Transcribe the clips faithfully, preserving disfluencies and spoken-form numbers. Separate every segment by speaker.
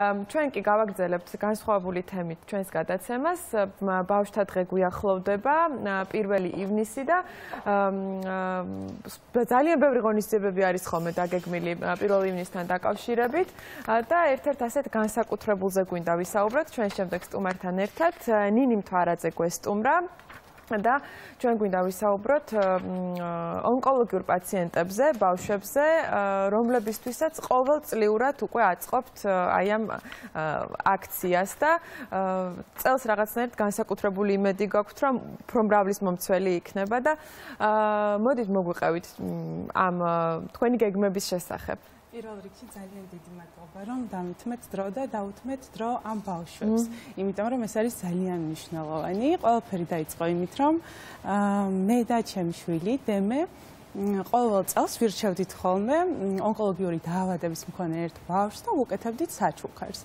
Speaker 1: ჩვენ კი გავაგრძელებთ განსხვავებული თემით ჩვენს გადაცემას. ბავშვთა დღე გვიახლოვდება პირველი ივნისი და ძალიან ბევრი ღონისძიებები არის ხოლმე დაგეგმილი პირველ ივნისთან დაკავშირებით და ერთ-ერთ ასეთ განსაკუთრებულზე გვინდა ვისაუბროთ ჩვენ შემდეგ სტუმართან ერთად. ნინი მთვარაძე გვესტუმრა და ჩვენ გვინდა ვისაუბროთ ონკოლოგიურ პაციენტებზე, ბავშვებზე, რომლებისთვისაც ყოველწლიურად უკვე აწყობთ აი ამ აქციას და წელს რაღაცნაირად განსაკუთრებული იმედი გაქვთ, რომ უფრო მრავლის მომცველი იქნება და მოდით მოგვიყევით ამ თქვენი გეგმების შესახებ.
Speaker 2: პირველ რიგში ძალიან დიდი მადლობა, რომ დამითმეთ დრო და დაუთმეთ დრო ამ ბავშვებს. იმიტომ რომ ეს არის ძალიან მნიშვნელოვანი. ყველაფერი დაიწყო იმით, რომ მე და ჩემი შვილი დემე ყოველ წელს ვირჩევდით ხოლმე ონკოლოგიური დაავადების მქონე ერთ ბავშვს და ვუკეთებდით საჩუქარს.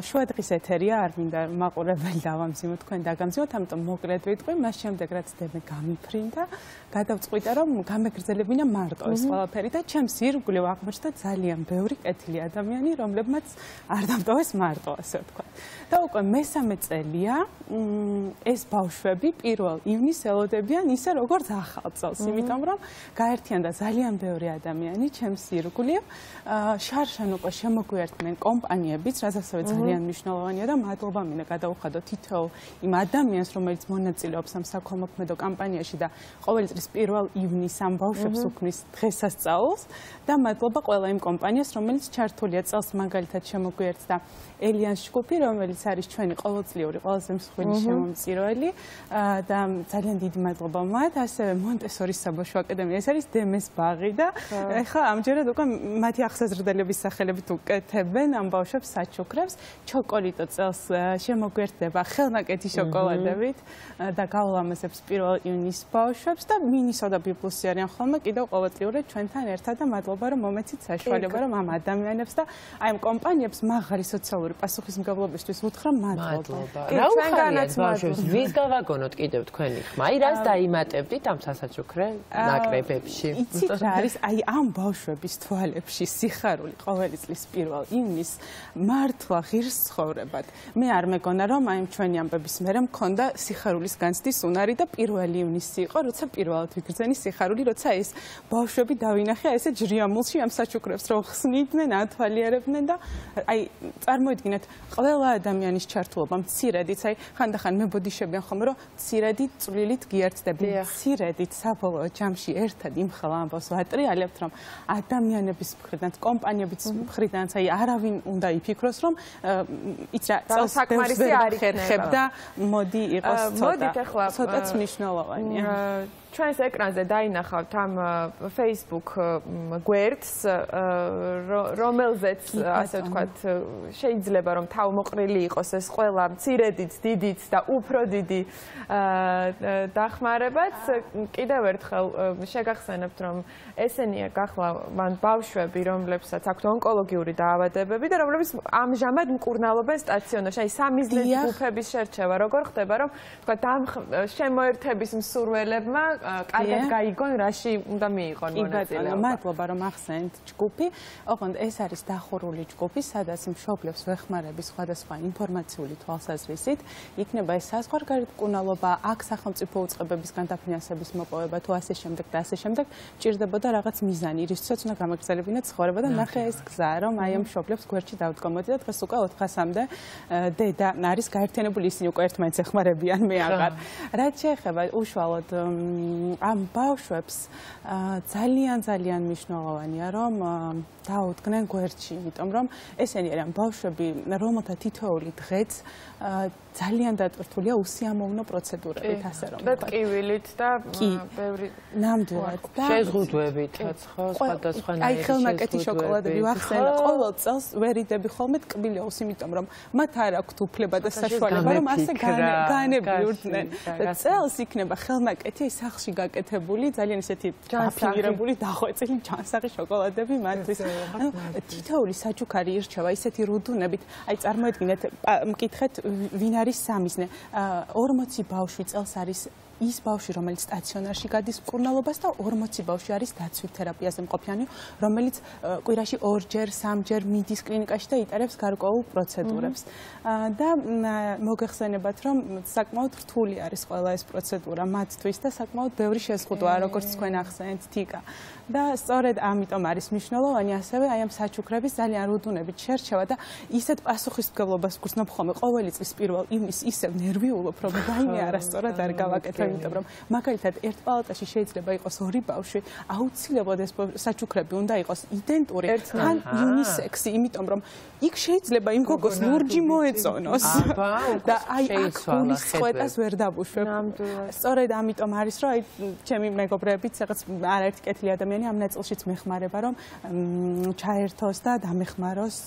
Speaker 2: შუადღის ეთერია, არ მინდა მაყურებელი დავამძიმოთ, თქვენ დაგამძიმოთ, ამიტომ მოკლედ ვიტყვი, მას შემდეგ რაც დემე გამიფრინდა, გადავწყვიტა, რომ გამეგრძელებინა მარტო ეს ყველაფერი და ჩემს ირგვლივ აღმოჩნდა ძალიან ბევრი კეთილი ადამიანი, რომლებმაც არ დამტოვეს მარტო, ასე ვთქვათ. და უკვე მესამე წელია ეს ბავშვები პირველ ივნისს ელოდებიან ისე როგორც ახალ წელს, იმიტომ რომ გაერთიანდა ძალიან ბევრი ადამიანი ჩემს ირგვლივ. შარშან უკვე შემოგვიერთდნენ კომპანიებიც, რაც ასევე ძალიან მნიშვნელოვანია და მადლობა მინდა გადაუხადო თითოეულ იმ ადამიანს, რომელიც მონაწილეობს ამ საქველმოქმედო კამპანიაში და ყოველი წლის პირველ ივნისს ამ ბავშვებს უქმნის დღესასწაულს და მადლობა ყველა იმ კომპანიას, რომელიც ჩართულია წელს მაგალითად შემოგვიერთდა ელიანს ჯგუფი, რომელიც არის ჩვენი ყოველწლიური ყველაზე მსხვილი შემომწირველი და ძალიან დიდი მადლობა მათ, ასევე მონტესორის საბავშვო აკადემია, ეს არის დემეს ბაღი და ეხლა ამჯერად უკვე მათი აღსაზრდელების სახელებით უკეთებენ ამ ბავშვებს საჩუქრებს. ჩოკოლიტო წელს შემოგვერთდება ხელნაკეთი შოკოლადებით და გავლამაზებს პირველ ივნისს ბავშვებს და მინისოდა ბიბლუსი არიან ხოლმე კიდევ ყოველწლიურად ჩვენთან ერთად და მადლობა რომ მომეცით საშუალება რომ ამ ადამიანებს და აი ამ კომპანიებს მაღალი სოციალური პასუხისმგებლობისთვის უთხრა მადლობა.
Speaker 3: რა უხარიათ ბავშვებს, ვის გავაგონოთ კიდევ თქვენი ხმა? აი რას დაიმატებდით ამ სასაჩუქრე ნაკრებებში?
Speaker 2: იცით რა არის აი ამ ბავშვების თვალებში სიხარული ყოველი წლის პირველ ივნისს მართლა ღირს ცხოვრებად. მე არ მეგონა რომ აი ჩვენი ამბების მერე მქონდა სიხარულის განცდის უნარი და პირველ ივნისი იყო, როცა პირველად ვიგრძენი სიხარული, როცა ეს ბავშვები დავინახე ესე ჯრიამულში ამ საჩუქრებს რო ხსნიდნენ, ათვალიერებდნენ და აი წარმოიდგინეთ ყველა ადამიანის ჩართულობა მცირედიც, აი ხანდახან მებოდიშებიან ხოლმე რომ მცირედი წვლილით გიერთდები, მცირედით საბოლოო ჯამში ერთად იმხელა ამბავს ვატრიალებთ, რომ ადამიანების მხრიდან, კომპანიების მხრიდან, აი არავინ უნდა იფიქროს, რომ იც რა წელს
Speaker 1: საკმარისი არ
Speaker 2: იქნება და მოდი იყოს ცოტა, ცოტაც მნიშვნელოვანია.
Speaker 1: ჩვენს ეკრანზე დაინახავთ ამ Facebook გვერდს, რომელზეც ასე ვთქვათ, შეიძლება რომ თავმოყრილი იყოს ეს ყველა მცირედიც, დიდიც და უფრო დიდი დახმარებაც. კიდევ ერთხელ შეგახსენებთ, რომ ესენია გახლავთ ბავშვები, რომლებსაც აქვთ ონკოლოგიური დაავადებები და რომლებიც ამჟამად მკურნალობენ სტაციონარში. აი სამიზნეს ჯგუფების შერჩევა როგორ ხდება, რომ თქვათ ამ შემოერთების მსურველებმა კარგად გაიგონ, რაში უნდა მიიღონ მონაწილეობა.
Speaker 2: მადლობა რომ ახსენეთ ჯგუფი. ოღონდ ეს არის დახურული ჯგუფი, სადაც მშობლებს ვეხმარები სხვადასხვა ინფორმაციული თვალსაზრისით. იქნება ეს საზღვარგარეთ მკურნალობა, აქ სახელმწიფო უწყებებისგან დაფინანსების მოპოვება თუ ასე შემდეგ და ასე შემდეგ, ჭირდებოდა რაღაც მიზანი, რისთვისაც უნდა გამაგრძელებინა ცხოვრება და ნახე ეს გზა, რომ აი ამ მშობლებს გვერდში დავდგომოდი და დღეს უკვე ოთხასამდე დედა არის გაერთიანებული, ისინი უკვე ერთმანეთს ეხმარებიან, მე აღარ. რაც შეეხება უშუალოდ ამ ბავშვებს ძალიან ძალიან მნიშვნელოვანია რომ დაუდგნენ გვერდში, იმიტომ რომ ესენი არიან ბავშვები, რომელთა თითოეული დღეც ძალიან დატვირთულია უსიამოვნო პროცედურებით, ასე რომ
Speaker 1: ვთქვათ. ტკივილით და ბევრი
Speaker 2: ნამდვილად და
Speaker 3: შეზღუდვებით, ხო, სხვადასხვანაირი
Speaker 2: აი ხელნაკეთი შოკოლადები ვახსენე, ყოველ წელს ვერიდები ხოლმე ტკბილეულს, იმიტომ რომ მათ არ აქვთ უფლება და საშუალება რომ ასე განებიურდნენ. და წელს იქნება ხელნაკეთი სახლში გაკეთებული, ძალიან ისეთი დაფინირებული, დახვეწილი ჯანსაღი შოკოლადები მათთვის. ანუ თითოეული საჩუქარი ირჩევა ისეთი რუდუნებით, აი წარმოედგინეთ, მკითხეთ ვინ არის სამიზნე. ორმოცი ბავშვი წელს არის ის ბავშვი, რომელიც სტაციონარში გადის მკურნალობას და ორმოცი ბავშვი არის დაცვით თერაპიაზე მყოფიანი, რომელიც კვირაში ორჯერ, სამჯერ მიდის კლინიკაში და იტარებს გარკვეულ პროცედურებს. და მოგეხსენებათ, რომ საკმაოდ რთული არის ყველა ეს პროცედურა მათთვის და საკმაოდ ბევრი შეზღუდვაა, როგორც თქვენ ახსენეთ, თიკა. და სწორედ ამიტომ არის მნიშვნელოვანი ასევე აი ამ საჩუქრების ძალიან რუდუნებით შერჩევა და ისეთ პასუხისმგებლობას გრძნობ ხოლმე ყოველი წლის პირველ ივნისს ისევ ნერვიულობ, რომ რაიმე არასწორად არ გავაკეთებ, იმიტომ რომ მაგალითად ერთ პალატაში შეიძლება იყოს ორი ბავშვი, აუცილებლად ეს საჩუქრები უნდა იყოს იდენტური, თან იუნისექსი, იმიტომ რომ იქ შეიძლება იმ გოგოს ლურჯი მოეწონოს და აი აქ გულის წვეტას ვერ დაბუშვებ. სწორედ ამიტომ არის, რომ აი ჩემი მეგობრებიც რაღაც არაერთი კეთილი ადამიანი ამ ნაწილშიც მეხმარება, რომ ჩაერთოს და დამეხმაროს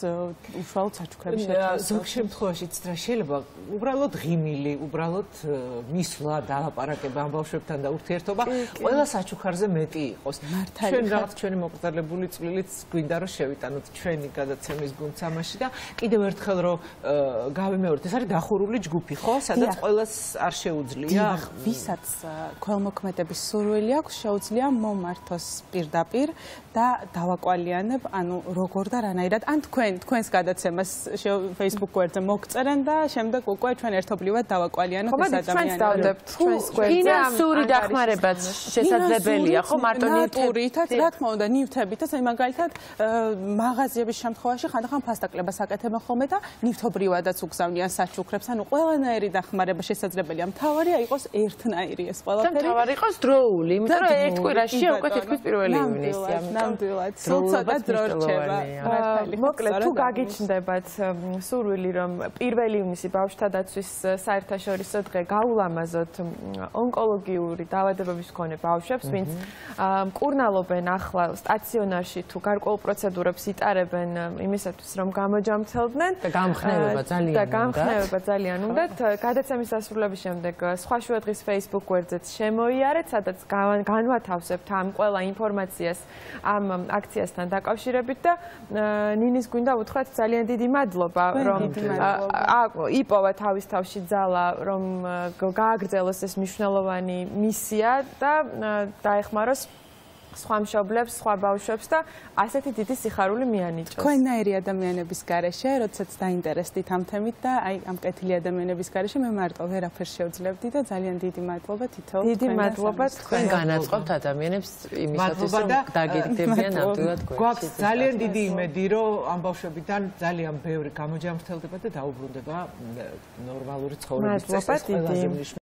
Speaker 2: უშუალოდ საჩუქრების შერჩევა.
Speaker 4: ზოგ შემთხვევაშიც რა შეიძლება უბრალოდ ღიმილი, უბრალოდ მისვლა, დალაპარაკება ამ ბავშვებთან და ურთიერთობა ყველა საჩუქარზე მეტი იყოს. ჩვენ რაღაც ჩვენი მოკრძალებული წვლილიც გვინდა რომ შევიტანოთ ჩვენი გადაცემის გუნდს ამაში და კიდევ ერთხელ რომ გავიმეორეთ, ეს არის დახურული ჯგუფი, ხო? სადაც ყველას არ შეუძლია.
Speaker 2: ვისაც ქველმოქმედების სურვილი აქვს, შეუძლია მომართოს პირდაპირ და დავაკვალიანებ, ანუ როგორ და რანაირად, ან თქვენ თქვენს გადაცემას Facebook გვერდზე მოგწერენ და შემდეგ უკვე ჩვენ ერთობლივად დავაკვალიანებთ ეს ადამიანები.
Speaker 1: ჩვენს დავდებთ ჩვენს გვერდზე.
Speaker 3: ფინანსური დახმარებაც შესაძლებელია, ხო? მარტო
Speaker 2: ნივთებითაც, რა თქმა უნდა, ნივთებითაც, აი მაგალითად მაღაზიების შემთხვევაში ხანდახან ფასტაკლებას აკეთებენ ხოლმე და ნივთობრივადაც უგზავნიან საჩუქრებს, ანუ ყველანაირი დახმარება შესაძლებელია. მთავარია იყოს ერთნაირი ეს ყველაფერი.
Speaker 3: და მთავარი იყოს დროული, იმიტომ რომ ერთ კვირაში უკვე თითქმის პირველი ივნისია.
Speaker 2: ნამდვილად, სულცა და დრო რჩება.
Speaker 1: მოკლედ, თუ გაგიჩნდებათ სურვილი, რომ პირველი ივნისი ბავშვთა დაცვის საერთაშორისო დღე გაულამაზოთ ონკოლოგიური დაავადებების მქონე ბავშვებს, ვინც მკურნალობენ ახლა სტაციონარში თუ გარკვეულ პროცედურებს იტარებენ იმისათვის, რომ გამოჯამრთელდნენ
Speaker 3: და გამხნევება ძალიან
Speaker 1: და გამხნევება ძალიან უნდათ. გადაცემის დასრულების შემდეგ სხვა შუადღის Facebook გვერდზეც შემოიარეთ, სადაც განვათავსებთ ამ ყველა ინფორმაციას ამ აქციასთან დაკავშირებით და ნინის გვინდა უთხრათ ძალიან დიდი მადლობა, რომ იპოვა თავის თავში ძალა, რომ გააგრძელოს ეს მნიშვნელოვანი მისია და დაეხმაროს სხვა მშობლებს, სხვა ბავშვებს და ასეთი დიდი სიხარული მიანიჭოს.
Speaker 2: თქვენნაირი ადამიანების გარეშე, როდესაც დაინტერესდით ამ თემით და აი ამ კეთილი ადამიანების გარეშე მე მარტო ვერაფერს შევძლებდი და ძალიან დიდი მადლობა თითოეულ თქვენს.
Speaker 3: დიდი მადლობა თქვენ განაწყობთ ადამიანებს იმისათვის, რომ დაგეგდებიან ნამდვილად გვერდში.
Speaker 4: გვაქვს ძალიან დიდი იმედი, რომ ამ ბავშვებიდან ძალიან ბევრი გამოჯამრთელდება და დაუბრუნდება ნორმალური ცხოვრების წესს.